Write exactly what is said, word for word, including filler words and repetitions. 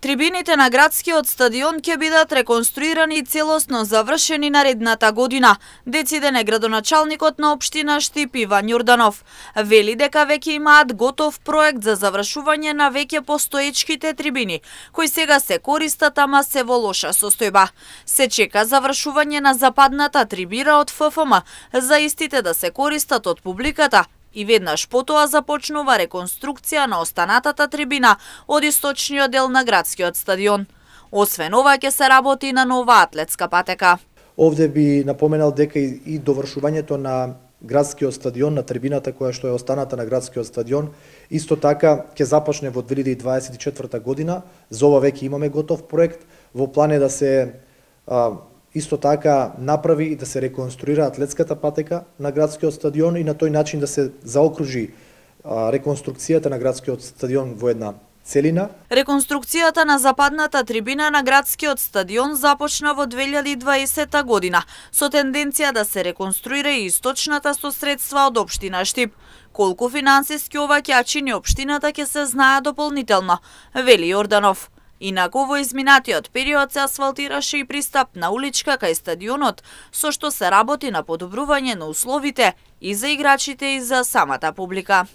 Трибините на градскиот стадион ќе бидат реконструирани и целосно завршени наредната година, дециден е градоначалникот на општина Штип Иван Јорданов. Вели дека веќе имаат готов проект за завршување на веќе постоечките трибини, кои сега се користат, ама се во лоша состојба. Се чека завршување на западната трибина од Ф Ф М за истите да се користат од публиката, и веднаш потоа започнува реконструкција на останатата трибина од источниот дел на градскиот стадион. Освен ова ќе се работи на нова атлетска патека. Овде би напоменал дека и довршувањето на градскиот стадион, на трибината која што е останата на градскиот стадион, исто така ќе започне во две илјади дваесет и четврта година. За ова веќе имаме готов проект. Во план е да се а, исто така направи и да се реконструира атлетската патека на градскиот стадион и на тој начин да се заокружи а, реконструкцијата на градскиот стадион во една целина. Реконструкцијата на западната трибина на градскиот стадион започна во две илјади дваесета година со тенденција да се реконструира и источната со средства од општина Штип. Колку финансиски ова ќе чини општината ќе се знае дополнително, вели Јорданов. Инаку во изминатиот период се асфалтираше и пристап на уличка кај стадионот, со што се работи на подобрување на условите и за играчите и за самата публика.